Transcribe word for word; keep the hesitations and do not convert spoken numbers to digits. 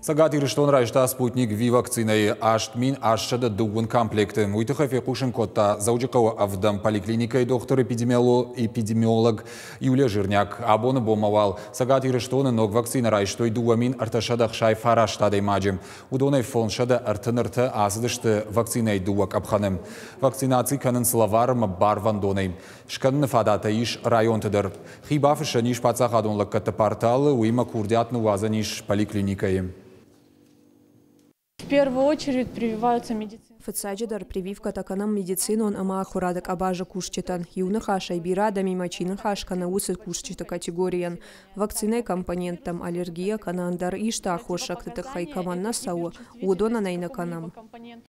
Цӕгат Ирыстон райста «Спутник Ви» вакцинӕйы аст мин астсӕдӕ дыууын комплекты. Уый тыххӕй фехъусын кодта Дзӕуджыхъӕуы ӕвдӕм поликлиникӕйы дохтыр-эпидемиолог Юлия Жирняк. Абоны бонмӕ уал Цӕгат Ирыстоны ног вакцинӕ райстой дыууӕ мин ӕртӕсӕдӕ ӕхсай фараст адӕймаджы. Уыдонӕй фондзсӕдӕ ӕртын ӕртӕ ацыдысты вакцинӕйы дыууӕ къӕпхӕны. Вакцинаци кӕнынц лӕвар ӕмӕ барвӕндонӕй. Скӕныны фадат ис районты дӕр. Хи бафыссӕн ис паддзахадон лӕггӕдты порталы, уыимӕ курдиат ныууадзӕн ис поликлиникӕйы. В первую очередь прививаются медицинские. Фыццаджыдӕр прививкӕтӕ кӕнӕм медицинон ӕмӕ ахуырады къабазы кусджытӕн. Иу ныхасӕй, бирӕ адӕмимӕ чи ныхас кӕны, уыцы кусджыты категорийӕн. Вакцинӕйы компоненттӕм аллергия кӕнӕ ӕндӕр исты аххосӕгты тыххӕй кӕмӕн нӕ цӕуы, уыдонӕн ӕй нӕ кӕнӕм.